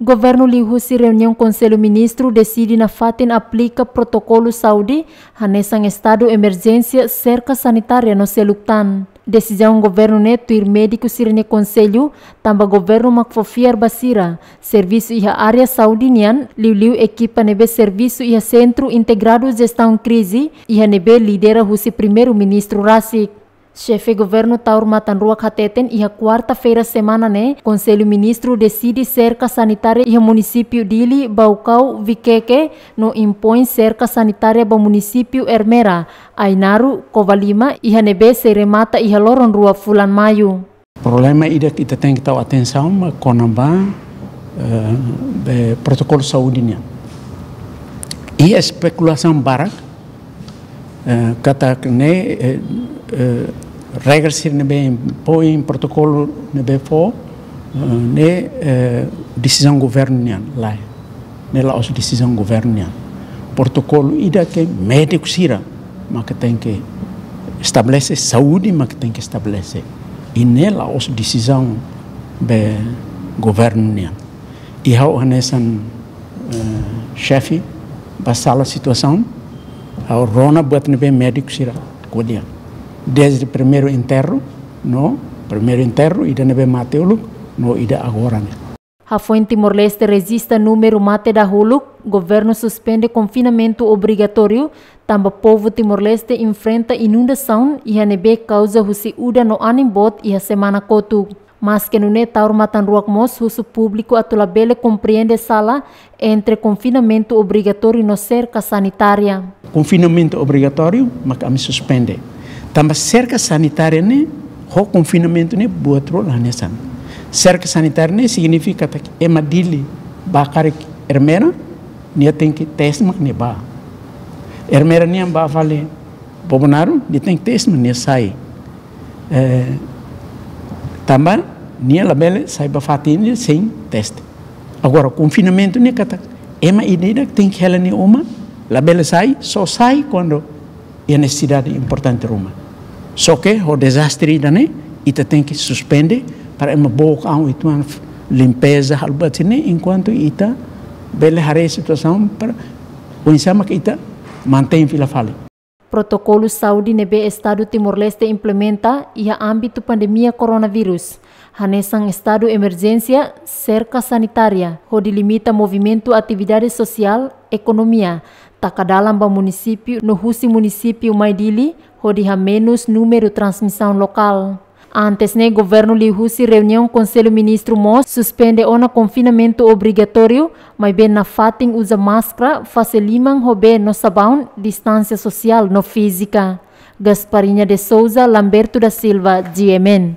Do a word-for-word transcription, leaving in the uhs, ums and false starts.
Governu liuhusi reuniaun Konsellu Ministru deside nafatin aplika protokolu saúde hanesan estadu emerjénsia, serka sanitária no seluk tan. Desizaun governu ne'e tuir médiku sira-nia konsellu, tanba governu mak fó fiar ba sira servisu iha área saúde nian, liuliu ekipa ne'ebé servisu iha Sentru Integradu Jestaun Krize, iha ne'ebé lidera husi Primeiru-Ministru rasik. Xefe Governu Taur Matan Ruak hateten iha kuarta-feira semana ne'e, Konsellu Ministru deside serka sanitária iha munisípiu Dili, Baucau, Viqueque, no impoin serka sanitária ba munisípiu Ermera, Ainaro, Covalima, iha ne'ebé sei remata iha loron rua fulan Maiu. Problema ida ke ita tenke tau atensaun mak kona-ba, eh, be protokolu saúde nian. Iha espekulasaun barak, eh, katak ne'e, eh, eh, regra sira ne'ebé impoin, protokolu ne'ebé fó, eh, ne'e, eh, desizaun governu nian, lae. Ne'e la'ós desizaun governu nian. Protokolu ida ke médiku sira mak tenke estabelese, saúde mak tenke estabelese. I ne'e la'ós desizaun be governu nian. I ha'u hanesan, eh, xefe ba sala situasaun, ha'u rona buat ne'ebé médiku sira ko'alia. Dezde primeiru enterru, no primeiru enterru, ida ne'ebé mate uluk, no ida agora ne'e. Hafoin Timor-Leste rejista númeru mate dahuluk, governu suspende konfinamentu obrigatóriu, tanba povu Timor-Leste enfrenta inundasaun iha ne'ebé kauza husi udan no anin boot iha semana kotuk. Maske nune'e, Taur Matan Ruak mós husu públiku atu labele komprende sala entre konfinamentu obrigatóriu no serka sanitária. Konfinamentu obrigatóriu mak ami suspende. Tanba serka sanitária ne'e ho konfinamentu ne'e buat rua la hanesan. Serka sanitária ne'e signifika katak ema Dili bá karik Ermera, nia tenke teste mak nia bá. Ermera nian bá fali Bobonaro, nia tenke teste mak nia sai. Eh, tanba nia labele sai ba fatin ne'e sein teste. Agora, konfinamentu ne'e katak ema ida-idak tenke hela nia uma, labele sai, só sai kuandu iha nesesidade importante ruma. Só ke ho dezastre ida-ne'e, ita tenke suspende para ema book an uitoan, limpeza, halo buat sira-ne'e, enkuantu ita bele haree situasaun para oinsá mak ita mantein fila fali. Protokolu saúde ne'ebé Estadu Timor-Leste implementa iha ámbitu pandemia koronavírus, hanesan estadu emerjénsia, serka sanitária, hodi limita movimentu atividade sosiál, ekonomia, taka dalan ba munisípiu no husi munisípiu mai Dili, hodi hamenus númeru transmisaun lokál. Antes ne'e, governu liuhusi reuniaun Konsellu Ministru mós suspende ona konfinamentu obrigatóriu, maibé nafatin uza máskara, fase liman ho bee no sabaun, distánsia sosiál no fízika. Gasparinha de Souza, Lamberto da Silva, G M N.